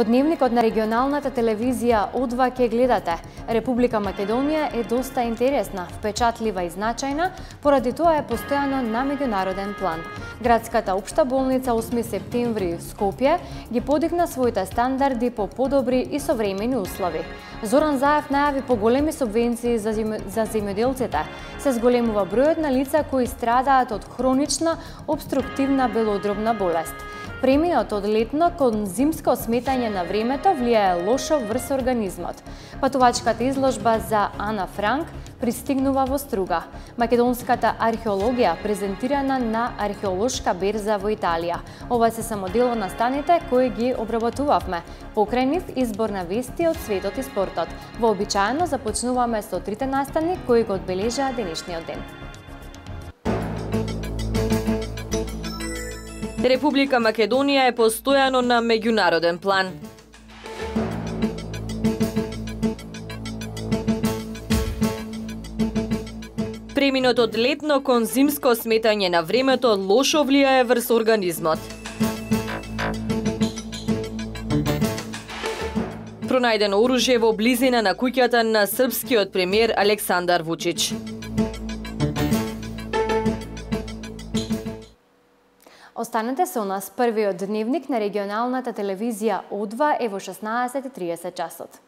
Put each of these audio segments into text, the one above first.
Во дневникот на регионалната телевизија О2 ќе гледате: Република Македонија е доста интересна, впечатлива и значајна, поради тоа е постојано на меѓународен план. Градската општа болница 8 септември Скопје ги подигна своите стандарди по подобри и современи услови. Зоран Заев најави поголеми субвенции за земјоделците. Се зголемува бројот на лица кои страдаат од хронична обструктивна белодробна болест. Преминот од летно кон зимско сметање на времето влијае лошо врз организмот. Патувачката изложба за Ана Франк пристигнува во Струга. Македонската археологија презентирана на археолошка берза во Италија. Ова се само дел од настаните кои ги обработувавме. Покрај нив избор на вести од светот и спортот. Вообичаено започнуваме со трите настани кои го одбележаа денешниот ден. Република Македонија е постојано на меѓународен план. Преминот од летно кон зимско сметање на времето лошо влијае врз организмот. Пронајдено оружје во близина на куќата на српскиот премиер Александар Вучич. Останете со нас, првиот дневник на регионалната телевизија О2 е во 16:30 часот.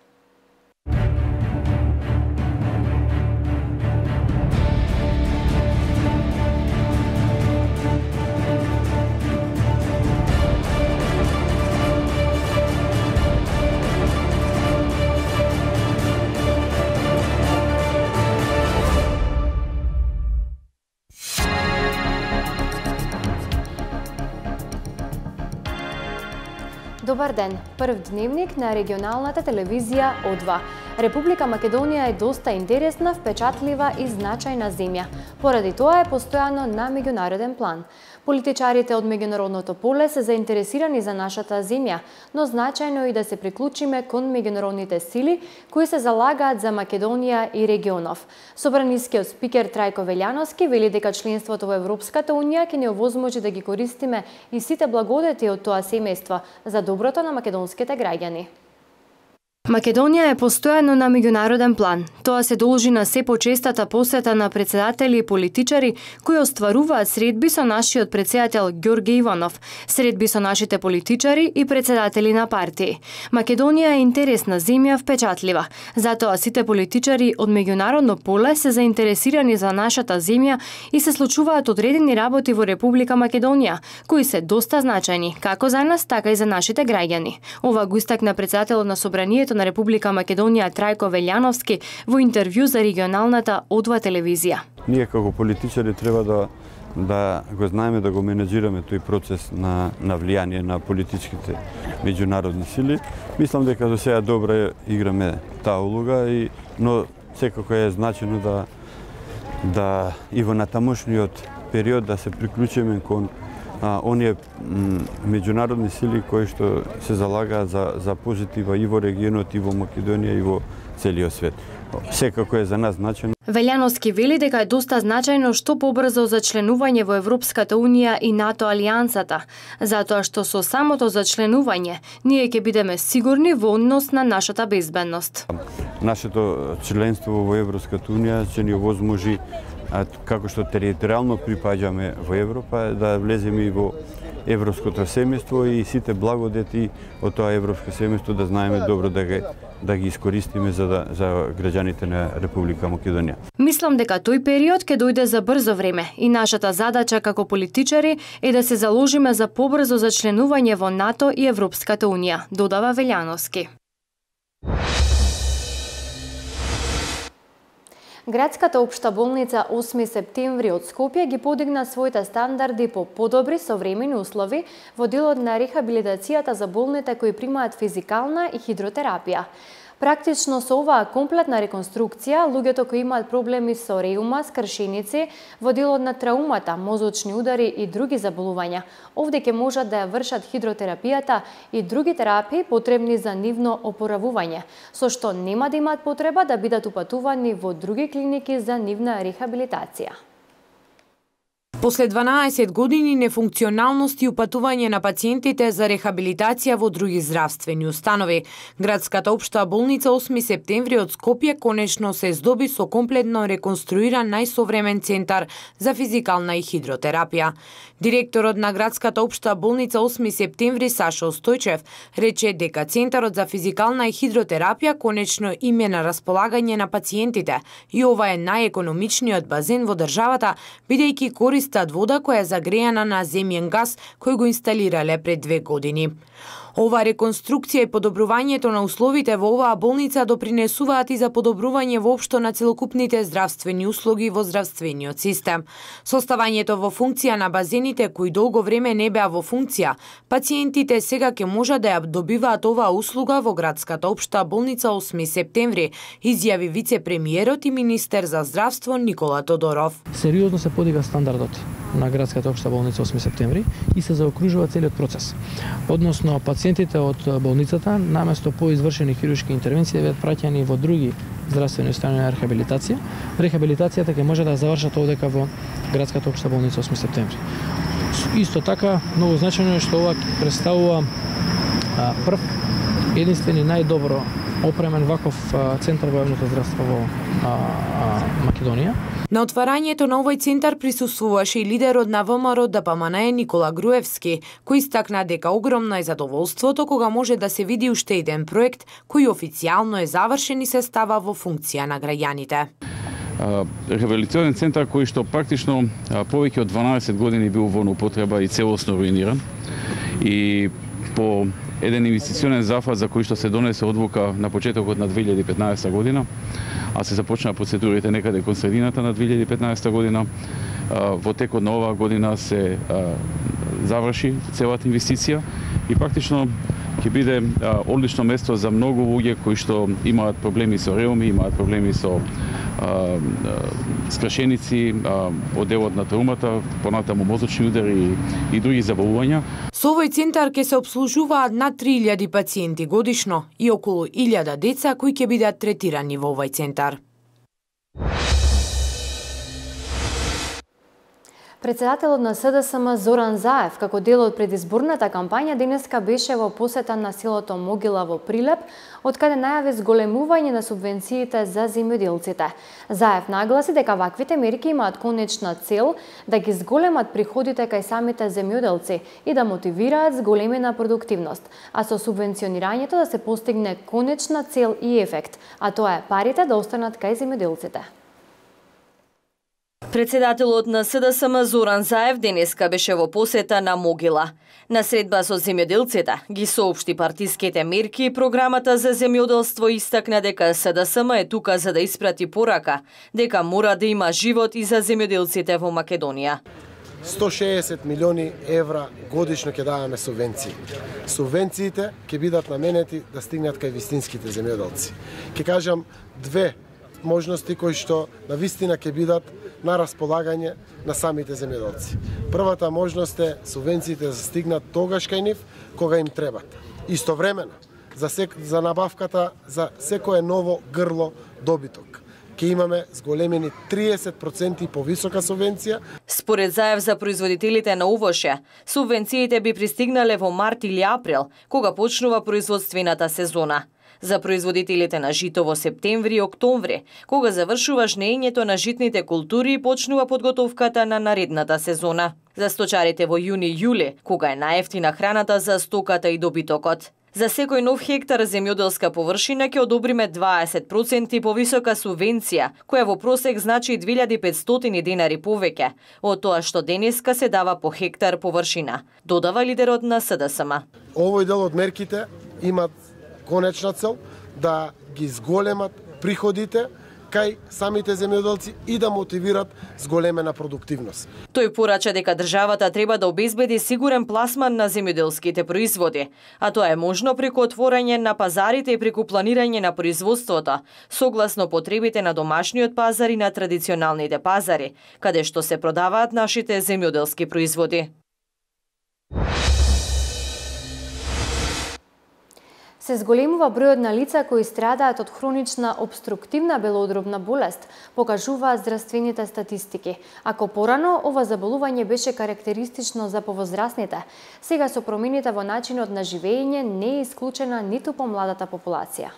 Добар ден, прв дневник на регионалната телевизија О2. Република Македонија е доста интересна, впечатлива и значајна земја. Поради тоа е постојано на меѓународен план. Политичарите од меѓународното поле се заинтересирани за нашата земја, но значајно е и да се приклучиме кон меѓународните сили кои се залагаат за Македонија и регионов. Собранискиот спикер Трајко Велјановски вели дека членството во Европската унија ќе ни овозможи да ги користиме и сите благодети од тоа семејство за доброто на македонските граѓани. Македонија е постојано на меѓународен план. Тоа се должи на се почестата посета на председатели и политичари кои остваруваат средби со нашиот председател Ѓорѓе Иванов, средби со нашите политичари и председатели на партии. Македонија е интересна земја, впечатлива. Затоа сите политичари од меѓународно поле се заинтересирани за нашата земја и се случуваат одредени работи во Република Македонија, кои се доста значајни, како за нас, така и за нашите граѓани. Ова го истакна председателот на Собранието на Република Македонија Трајко Велјановски во интервју за регионалната О2 телевизија. Ние како политичари треба да го знаеме да го менеджираме тој процес на влијание на политичките меѓународни сили. Мислам дека до сега добро играме таа улога, но секако е значено да и во натамошниот период да се приклучиме кон оние меѓународни сили кои што се залагаат за позитива и во регионот, и во Македонија, и во целиот свет. Секако е за нас значено. Велјановски вели дека е доста значајно што побрзо зачленување во Европската унија и НАТО алијансата, затоа што со самото зачленување ние ќе бидеме сигурни во однос на нашата безбедност. Нашето членство во Европската унија ќе ни овозможи, како што територијално припаѓаме во Европа, да влеземе и во европското семејство и сите благодети од тоа европско семејство да знаеме добро да ги искористиме за граѓаните на Република Македонија. Мислам дека тој период ќе дојде за брзо време и нашата задача како политичари е да се заложиме за побрзо зачленување во НАТО и Европската унија, додава Велјановски. Градската општа болница 8 септември од Скопје ги подигна своите стандарди по подобри современи услови во делот на рехабилитацијата за болните кои примаат физикална и хидротерапија. Практично со оваа комплетна реконструкција, луѓето кои имаат проблеми со реума, скршеници, во делот на траумата, мозочни удари и други заболувања, овде ќе можат да ја вршат хидротерапијата и други терапии потребни за нивно опоравување, со што нема да имаат потреба да бидат упатувани во други клиники за нивна рехабилитација. После 12 години нефункционалност и упатување на пациентите за рехабилитација во други здравствени установи, Градската општа болница 8 септември од Скопје конечно се здоби со комплетно реконструиран најсовремен центар за физикална и хидротерапија. Директорот на Градската општа болница 8 септември Сашо Стојчев рече дека центарот за физикална и хидротерапија конечно им е на располагање на пациентите и ова е најекономичниот базен во државата, бидејќи користат вода која е загрејана на земјен газ кој го инсталирале пред 2 години. Ова реконструкција и подобрувањето на условите во оваа болница допринесуваат и за подобрување воопшто на целокупните здравствени услуги во здравствениот систем. Составањето во функција на базените кои долго време не беа во функција, пациентите сега ќе можат да ја добиваат оваа услуга во Градската општа болница 8 септември, изјави вице-премиерот и министер за здравство Никола Тодоров. Сериозно се подига стандардот на Градската општа болница 8 септември и се заокружува целиот процес. Односно, пациентите од болницата, наместо по извршени хируршки интервенции, беат праќани во други здравствени установи на рехабилитација. Рехабилитацијата ќе може да завршат овдека во Градската општа болница 8 септември. Исто така, многу значајно е што ова представува прв, единствен и најдобро опремен ваков центар во јавното здравство во Македонија. На отварањето на овој центар присуствуваше и лидерот на ВМРО ДПМНЕ Никола Груевски, кој истакна дека огромно е задоволството кога може да се види уште еден проект кој официјално е завршен и се става во функција на граѓаните. Рехабилитационен центар кој што практично повеќе од 12 години бил во употреба и целосно руиниран и по еден инвестиционен зафат за кој што се донесе одлука на почетокот на 2015 година, а се започна процедурите некаде кон средината на 2015 година. Во текот на оваа година се заврши целата инвестиција и практично ќе биде одлично место за многу луѓе кои што имаат проблеми со реуми, имаат проблеми со скрашеници, одделот на траумата, понатаму мозочни удари и други заболувања. Со овој центар ќе се обслужуваат над 3000 пациенти годишно и околу 1000 деца кои ќе бидат третирани во овој центар. Председателот на СДСМ Зоран Заев, како дел од предизборната кампања, денеска беше во посета на селото Могила во Прилеп, од каде најави зголемување на субвенциите за земјоделците. Заев нагласи дека ваквите мерки имаат конечна цел да ги зголемат приходите кај самите земјоделци и да мотивираат зголемена продуктивност, а со субвенционирањето да се постигне конечна цел и ефект, а тоа е парите да останат кај земјоделците. Председателот на СДСМ Зоран Заев денеска беше во посета на Могила. На средба со земјоделците ги соопшти партиските мерки и програмата за земјоделство и истакна дека СДСМ е тука за да испрати порака, дека мора да има живот и за земјоделците во Македонија. 160 милиони евра годишно ќе даваме субвенции. Субвенциите ќе бидат наменети да стигнат кај вистинските земјоделци. Ќе кажам две можности кои што на вистина ќе бидат на располагање на самите земјоделци. Првата можност е субвенциите да стигнат тогаш кај нив кога им требат. Истовремено за набавката за секое ново грло добиток ќе имаме зголемени 30% повисока субвенција. Според Заев за производителите на овоше, субвенциите би пристигнале во март или април, кога почнува производствената сезона. За производителите на жито во септември и октомври, кога завршува жнеењето на житните култури и почнува подготовката на наредната сезона. За сточарите во јуни-јули, кога е најевтина храната за стоката и добитокот. За секој нов хектар земјоделска површина ќе одобриме 20% повисока субвенција, која во просек значи 2500 денари повеќе од тоа што денеска се дава по хектар површина, додава лидерот на СДСМ. Овој дел од мерките имат конечна цел да ги зголемат приходите кај самите земјоделци и да мотивират зголемена продуктивност. Тој порача дека државата треба да обезбеди сигурен пласман на земјоделските производи, а тоа е можно преку отворање на пазарите и преку планирање на производството, согласно потребите на домашниот пазар и на традиционалните пазари, каде што се продаваат нашите земјоделски производи. Се зголемува бројот на лица кои страдаат од хронична обструктивна белодробна болест, покажуваат здравствените статистики. Ако порано ова заболување беше карактеристично за повозрасните, сега со промените во начинот на живење не е исклучена ниту помладата популација.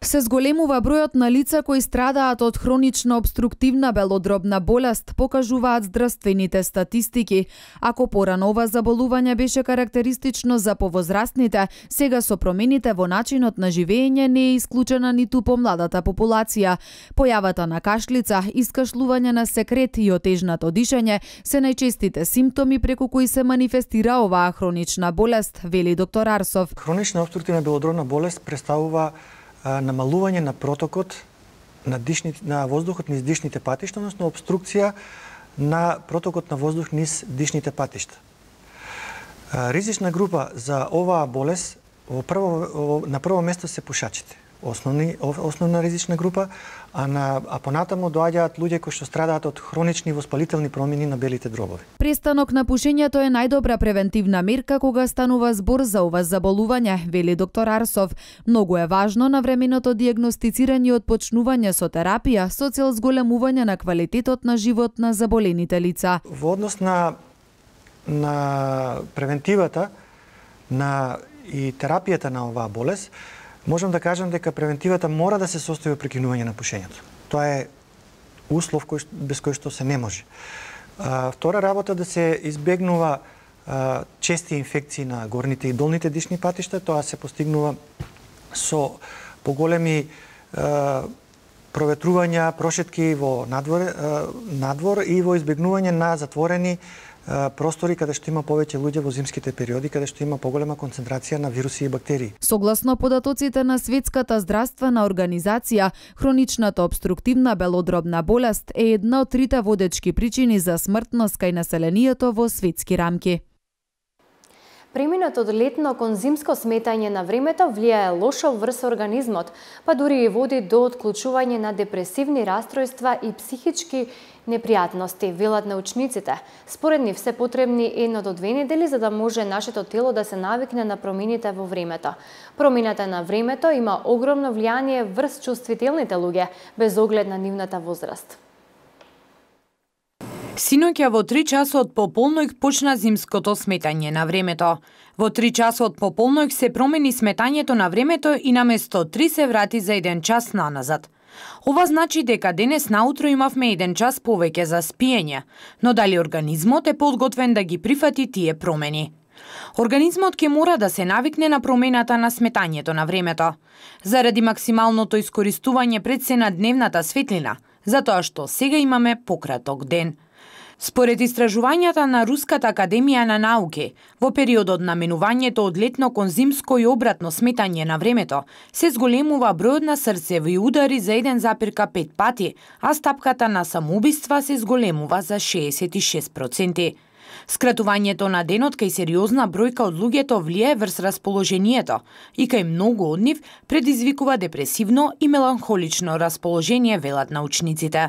Се зголемува бројот на лица кои страдаат од хронична обструктивна белодробна болест, покажуваат здравствените статистики. Ако порано ова заболување беше карактеристично за повозрасните, сега со промените во начинот на живење не е исклучена ниту помладата популација. Појавата на кашлица, искашлување на секрет и отежнато дишење се најчестите симптоми преку кои се манифестира оваа хронична болест, вели доктор Арсов. Хронична обструктивна белодробна болест представува намалување на протокот на воздухот низ дишните патишта, односно обструкција на протокот на воздух низ дишните патишта. Ризична група за оваа болест на прво место се пушачите. Основна ризична група, а понатаму доаѓаат луѓе кои што страдаат од хронични воспалителни промени на белите дробови. Престанок на пушењето е најдобра превентивна мерка кога станува збор за ова заболување, вели доктор Арсов. Многу е важно навременото дијагностицирање и отпочнување со терапија со цел зголемување на квалитетот на живот на заболените лица. Во однос на превентивата и терапијата на оваа болест, можам да кажам дека превентивата мора да се состои од прекинување на пушењето. Тоа е услов без кој што се не може. Втора работа да се избегнува чести инфекции на горните и долните дишни патишта. Тоа се постигнува со поголеми проветрувања, прошетки во надвор и во избегнување на затворени простори каде што има повеќе луѓе во зимските периоди, каде што има поголема концентрација на вируси и бактерии. Согласно податоците на Светската здравствена организација, хроничната обструктивна белодробна болест е една од трите водечки причини за смртност кај населението во светски рамки. Преминот од летно кон зимско сметање на времето влијае лошо врз организмот, па дури и води до отклучување на депресивни растројства и психички непријатности, велат научниците. Според нив се потребни 1 до 2 недели за да може нашето тело да се навикне на промените во времето. Промената на времето има огромно влијание врз чувствителните луѓе, без оглед на нивната возраст. Синоќа во 3 часот по полноќ почна зимското сметање на времето. Во 3 часот по полноќ се промени сметањето на времето и наместо 3 се врати за 1 час наназад. Ова значи дека денес наутро имавме 1 час повеќе за спиење, но дали организмот е подготвен да ги прифати тие промени? Организмот ќе мора да се навикне на промената на сметањето на времето, заради максималното искористување пред се на дневната светлина, затоа што сега имаме пократок ден. Според истражувањата на Руската академија на науки, во периодот на минувањето од летно кон зимско и обратно сметање на времето, се зголемува бројот на срцеви удари за 1,5 пати, а стапката на самоубиства се зголемува за 66%. Скратувањето на денот кај сериозна бројка од луѓето влијае врз расположението и кај многу од нив предизвикува депресивно и меланхолично расположение, велат научниците.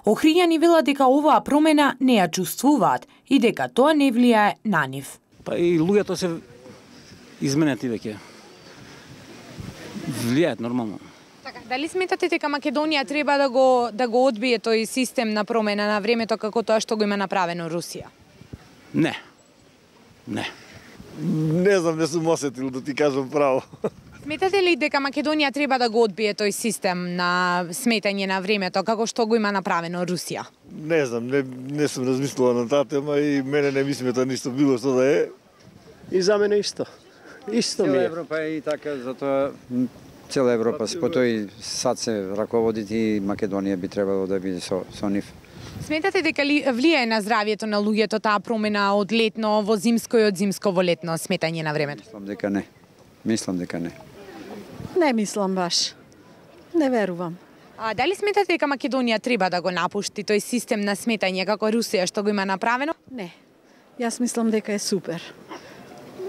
Охријани велат дека оваа промена не ја чувствуваат и дека тоа не влијае на нив. Па и луѓето се изменети веќе. Влијаат нормално. Така, дали сметате дека Македонија треба да го одбие тој систем на промена на времето како тоа што го има направено Русија? Не. Не знам, не сум осетил да ти кажам право. Сметате ли дека Македонија треба да го одбие тој систем на сметање на времето како што го има направено Русија? Не знам, не сум размислила на таа тема и мене не ми смета ништо било што да е. И за мене исто. Исто ми е. Цела Европа е и така, затоа цела Европа по тој сад се раководи и Македонија би требало да биде со нив. Сметате дека ли влијае на здравјето на луѓето таа промена од летно во зимско и од зимско во летно сметање на времето? Мислам дека не. Не мислам баш. Не верувам. А дали сметате дека Македонија треба да го напушти тој систем на сметање како Русија што го има направено? Не. Јас мислам дека е супер.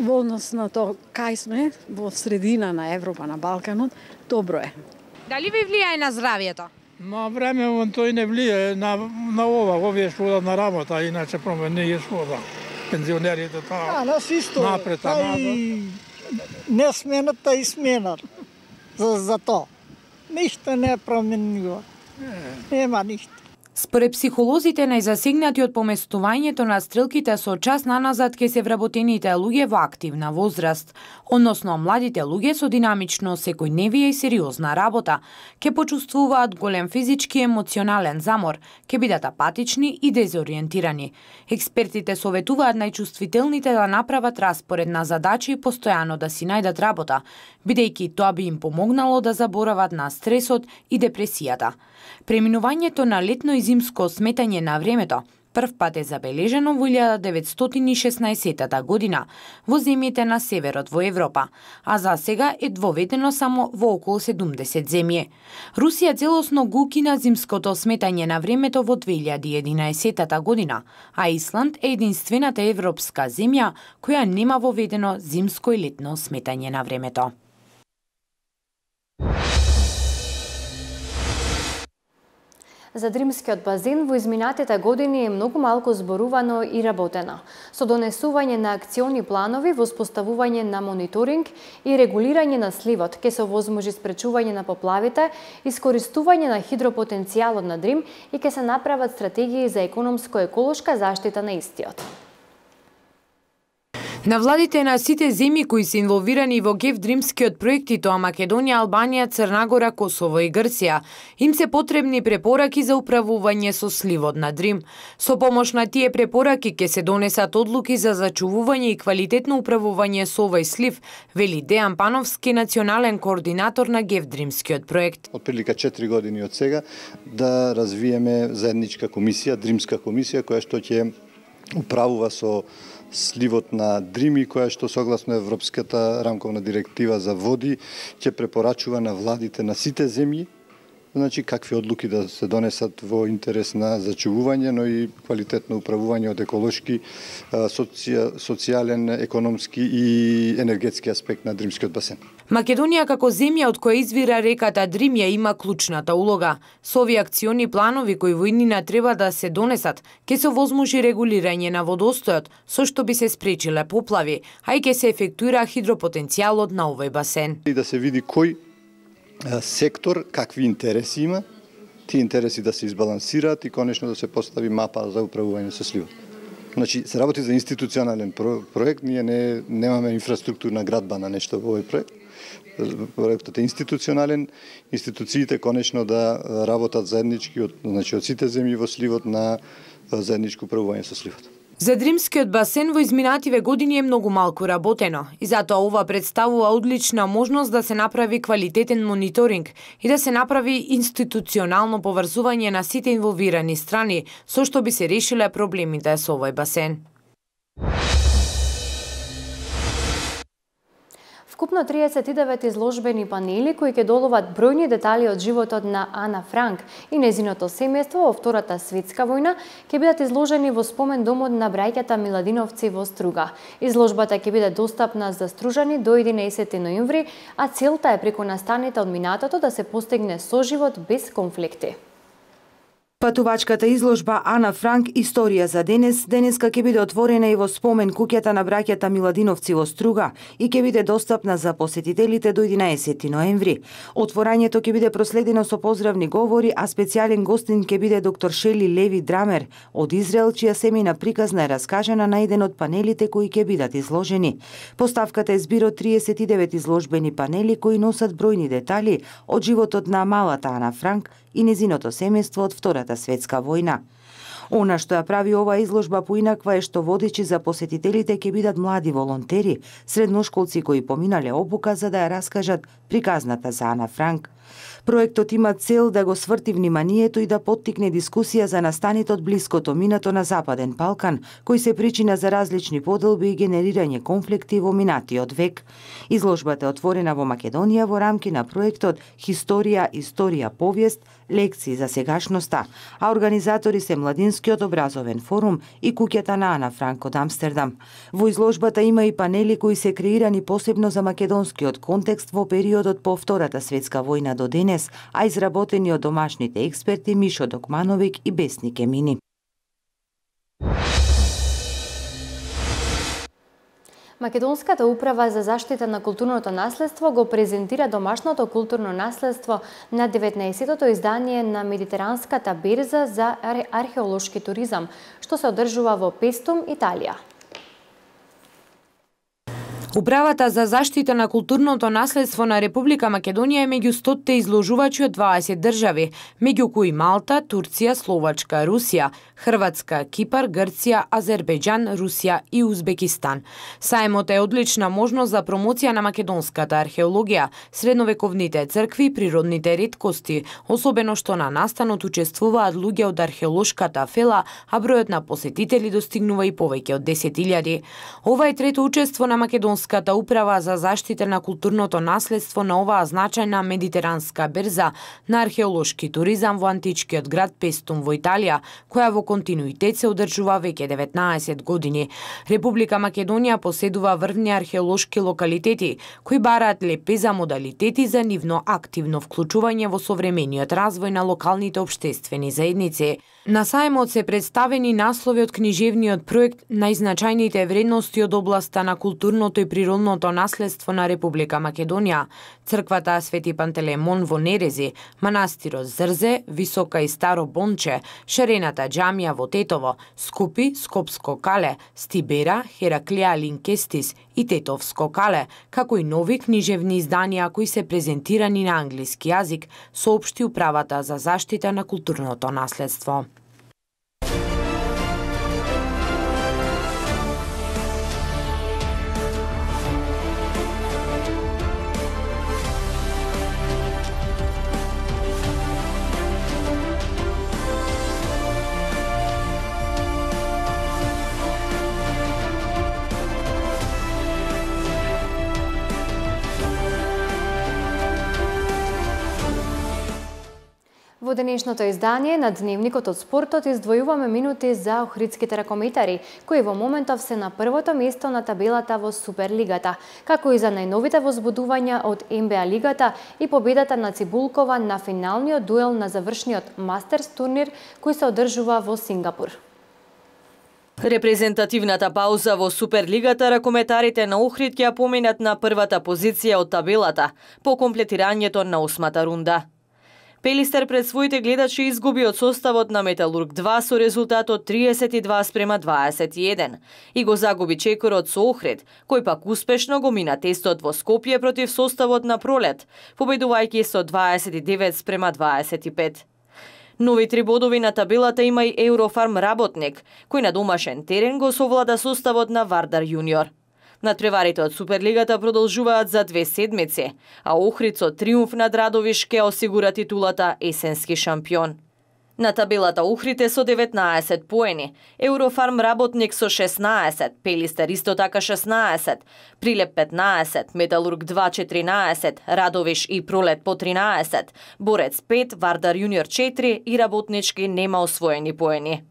Во однос на тоа кај сме, во средина на Европа, на Балканот, добро е. Дали ви влијае на здравјето? На време тој не влијае на овие што одат на работа, иначе промени не е што да. Пензионерите нас исто. Напред, не смената и сменат за тоа. Ништо не е променило. Нема ништо. Според психолозите, најзасегнати од поместувањето на стрелките со час наназад ке се вработените луѓе во активна возраст, односно младите луѓе со динамично секојдневие и сериозна работа, ке почувствуваат голем физички и емоционален замор, ке бидат апатични и дезориентирани. Експертите советуваат најчувствителните да направат распоред на задачи и постојано да си најдат работа, бидејќи тоа би им помогнало да заборават на стресот и депресијата. Преминувањето на летно и зимско сметање на времето прв пат е забележено во 1916 година во земјите на северот во Европа, а за сега е воведено само во околу 70 земји. Русија целосно го укина зимското сметање на времето во 2011 година, а Исланд е единствената европска земја која нема воведено зимско и летно сметање на времето. За Дримскиот базен во изминатите години е многу малку зборувано и работено. Со донесување на акциони планови, воспоставување на мониторинг и регулирање на сливот ке се овозможи спречување на поплавите, искористување на хидропотенцијалот на Дрим и ке се направат стратегии за економско-еколошка заштита на истиот. На владите на сите земји кои се инволвирани во Дримскиот проект, и тоа Македонија, Албанија, Црна Гора, Косово и Грција, им се потребни препораки за управување со сливот на Дрим. Со помош на тие препораки ќе се донесат одлуки за зачувување и квалитетно управување со овој слив, вели Дејан Пановски, национален координатор на Дримскиот проект. Од прилика 4 години од сега да развиеме заедничка комисија, Дримска комисија, која што ќе управува со сливот на Дрими, која што согласно Европската рамковна директива за води ќе препорачува на владите на сите земји, значи какви одлуки да се донесат во интерес на зачувување, но и квалитетно управување од еколошки, социјален, економски и енергетски аспект на Дримскиот басен. Македонија како земја од која извира реката Дрим ја има клучната улога. Со овие акциони планови кои во иднина треба да се донесат, ќе се овозможи регулирање на водостојот, со што би се спречиле поплави, а и ќе се ефектуира хидропотенцијалот на овој басен. И да се види кој сектор какви интереси има, тие интереси да се избалансираат и конечно да се постави мапа за управување со сливот. Значи, се работи за институционален проект, ние немаме инфраструктурна градба на нешто во овој проект. Проектот е институционален, институциите конечно да работат заеднички од сите земји во сливот на заедничко управување со сливот. За Дримскиот басен во изминативе години е многу малку работено и затоа ова представува одлична можност да се направи квалитетен мониторинг и да се направи институционално поврзување на сите инволвирани страни, со што би се решиле проблемите со овој басен. Вкупно 39 изложбени панели кои ќе доловат бројни детали од животот на Ана Франк и незиното семејство во Втората светска војна ќе бидат изложени во спомен домот на браќата Миладиновци во Струга. Изложбата ќе биде достапна за стружани до 11 ноември, а целта е преку настаните од минатото да се постигне соживот без конфликти. Патувачката изложба Ана Франк Историја за денеска ќе биде отворена и во спомен куќата на браќата Миладиновци во Струга и ќе биде достапна за посетителите до 11 ноември. Отворањето ќе биде проследено со поздравни говори, а специјален гостин ќе биде доктор Шели Леви Драмер од Израел, чија семејна приказна е раскажана на еден од панелите кои ќе бидат изложени. Поставката е збир од 39 изложбени панели кои носат бројни детали од животот на малата Ана Франк и незиното семејство од Втората светска војна. Она што ја прави оваа изложба поинаква е што водечи за посетителите ќе бидат млади волонтери, средношколци кои поминале обука за да ја раскажат приказната за Ана Франк. Проектот има цел да го сврти вниманието и да поттикне дискусија за настаните од блиското минато на Западен Балкан, кои се причина за различни поделби и генерирање конфликти во минатиот век. Изложбата е отворена во Македонија во рамки на проектот Историја, повест, лекции за сегашноста, а организатори се Младинскиот образовен форум и куќата на Ана Франк од Амстердам. Во изложбата има и панели кои се креирани посебно за македонскиот контекст во периодот по Втората светска војна до денес, а изработени од домашните експерти Мишо Докмановик и Бесник Емини. Македонската управа за заштита на културното наследство го презентира домашното културно наследство на 19-тото издание на Медитеранската берза за археолошки туризам, што се одржува во Пестум, Италија. Управата за заштита на културното наследство на Република Македонија е меѓу 100 изложувачи од 20 држави, меѓу кои Малта, Турција, Словачка, Русија, Хрватска, Кипар, Грција, Азербејџан, Русија и Узбекистан. Сајмот е одлична можност за промоција на македонската археологија, средновековните цркви, природните реткости, особено што на настанот учествуваат луѓе од археолошката фела, а бројот на посетители достигнува и повеќе од 10.000. Ова е трето учество на Македонската управа за заштита на културното наследство на оваа значајна медитеранска берза на археолошки туризам во античкиот град Пестум во Италија, која во континуитет се одржува веќе 19 години. Република Македонија поседува врвни археолошки локалитети, кои бараат лепеза модалитети за нивно активно вклучување во современиот развој на локалните општествени заедници. На сајмот се представени наслови од книжевниот проект најзначајните вредности од областа на културното и природното наследство на Република Македонија, црквата Свети Пантелеймон во Нерези, манастирот Зрзе, Висока и Старо Бонче, шарената џамија во Тетово, Скупи, Скопско кале, Стибера, Хераклија Линкестис и Тетовско кале, како и нови книжевни изданија кои се презентирани на англиски јазик, соопшти управата за заштита на културното наследство. Во денешното издание на Дневникот од спортот издвојуваме минути за охридските ракометари, кои во моментов се на првото место на табелата во Суперлигата, како и за најновите возбудувања од НБА лигата и победата на Цибулкова на финалниот дуел на завршниот Мастерс турнир кој се одржува во Сингапур. Репрезентативната пауза во Суперлигата ракометарите на Охрид ќе ја поминат на првата позиција од табелата по комплетирањето на 8-та рунда. Пелистер пред своите гледачи изгуби од составот на Металург 2 со резултатот 32:21 и го загуби чекорот со Охрид, кој пак успешно го мина тестот во Скопје против составот на Пролет, победувајќи со 29:25. Нови 3 бодови на табелата има и Еврофарм Работник, кој на домашен терен го совлада составот на Вардар Јуниор. Надпреварите од Суперлигата продолжуваат за 2 седмици, а Охрид со триумф над Радовиш ќе осигура титулата есенски шампион. На табелата Охрид е со 19 поени, Еврофарм Работник со 16, Пелистер исто така 16, Прилеп 15, Металург 2 14, Радовиш и Пролет по 13, Борец 5, Вардар Јуниор 4 и Работнички нема освоени поени.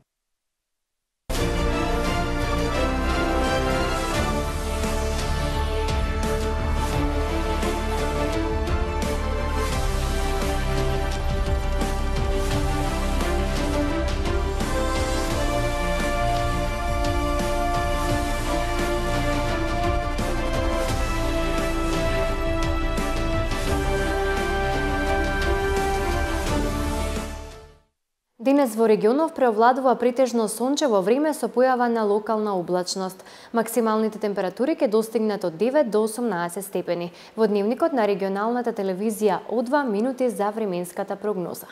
Денес во регионов преовладува претежно сончево време со појава на локална облачност. Максималните температури ќе достигнат од 9 до 18 степени. Во дневникот на регионалната телевизија О2 минути за временската прогноза.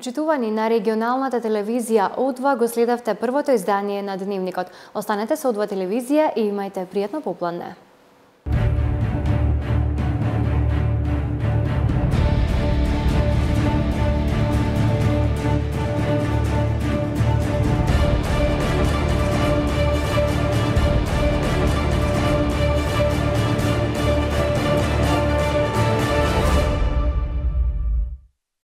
Почитувани на регионалната телевизија О2 го следавте првото издание на Дневникот. Останете со О2 телевизија и имајте пријатно попладне.